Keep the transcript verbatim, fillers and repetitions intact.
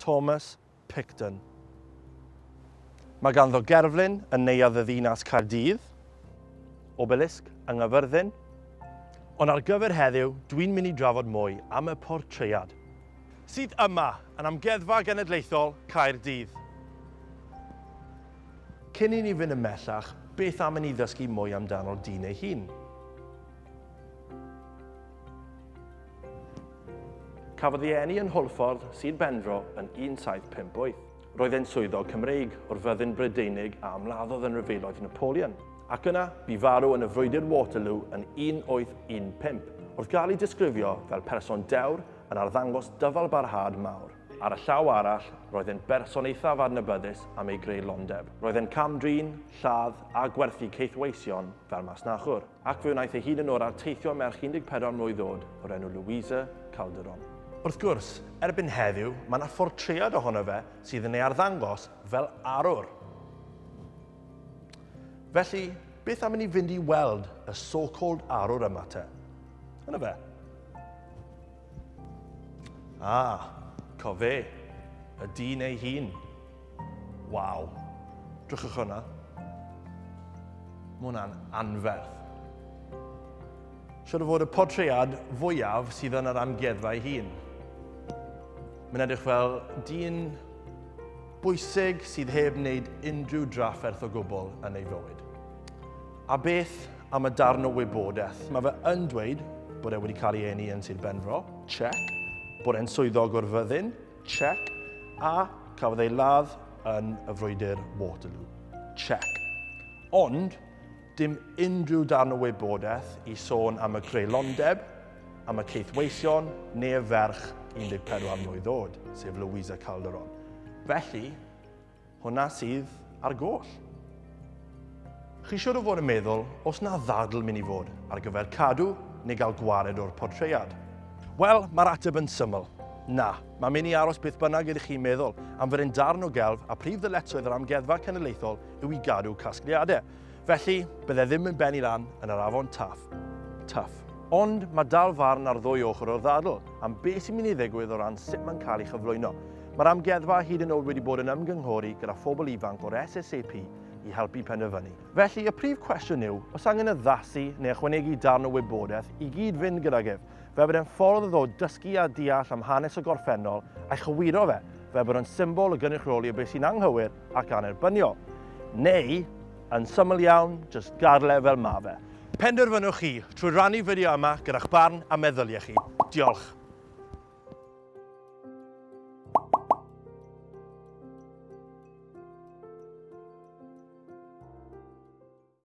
Thomas Picton. Mae ganddo gerflun yn Neuadd y Ddinas Caerdydd, obelisg yng Nghaerfyrddin, ond ar gyfer heddiw, dwi'n mynd i drafod mwy am y portread, sydd yma yn Amgueddfa Genedlaethol Caerdydd. Cyn i ni fynd ymhellach, beth am i ni ddysgu mwy amdano'r dyn ei hun? Cafodd ei eni yn Hwlffordd, Sir Benfro, yn un saith pump wyth. Roedd e'n swyddog Cymreig o'r fyddin Brydeinig a ymladdodd yn rhyfeloedd Napoleon, ac yna bu farw yn y frwydr Waterloo yn un wyth un pump, wrth gael ei disgrifio fel person dewr yn arddangos dyfalbarhad mawr. Ar y llaw arall, roedd e'n berson eithaf adnabyddus am ei greulondeb. Roedd e'n cam-drin, lladd a gwerthu caethweision fel masnachwr, ac fe wnaeth ei hun yn o'r arteithio merch un deg pedwar mlwydd oed o'r enw Louisa Calderon. Wrth gwrs, erbyn heddiw, mae yna phortread ohono fe sydd yn ei arddangos fel arwr. Felly, beth am i ni fynd i weld y so-called arwr yma te? Yna fe. Ah, cofe, y dyn ei hun. Waw, drychwch hwnna. Mae hwnna'n anferth. Siwr o fod y portread fwyaf sydd yn yr amgueddfa ei hun. Mae'n edrych fel dyn bwysig sydd heb wneud unrhyw drafferth o gwbl yn ei fywyd. A beth am y darn o wybodaeth? Mae fe yn dweud bod e wedi cael ei eni yn Sir Benfro, check. Bod e'n swyddog o'r fyddin, check. A cafodd ei ladd yn y frwydr Waterloo, check. Ond dim unrhyw darn o wybodaeth i sôn am y creulondeb, am y caethweision neu y ferch un deg pedwar mlwydd oed, sef Louisa Calderon. Felly, hwnna sydd ar goll. Chi siwr o fod yn meddwl, os na ddadl mynd i fod ar gyfer cadw neu gael gwared o'r portread? Wel, mae'r ateb yn syml. Na, mae'n mynd i aros beth bynnag ydych chi'n meddwl, am fod e'n darn o gelf a prif ddyletswydd yr Amgueddfa Cenedlaethol yw i gadw casgliadau. Felly, bydde ddim yn benni lan yn yr afon Taff. Tuff. Ond mae dal farn ar ddwy ochr o'r ddadl am beth sy'n mynd i ddigwydd o ran sut mae'n cael ei chyflwyno. Mae'r amgueddfa hyd yn oed wedi bod yn ymgynghori gyda phobl ifanc o'r S S A P i helpu penderfynu. Felly, y prif cwestiwn yw, oes angen addasu neu ychwanegu darn o wybodaeth i gyd fynd gydag ef, fel bod e'n ffordd o ddod dysgu a deall am hanes y gorffennol a'i chywiro fe, fel bod o'n symbol o gynrychioli o beth sy'n anghywir ac anerbyniol. Neu, yn syml iawn, jyst gadael e fel ma fe. Penderfynwch chi trwy rannu fideo yma gyda'ch barn a meddyliau chi. Diolch.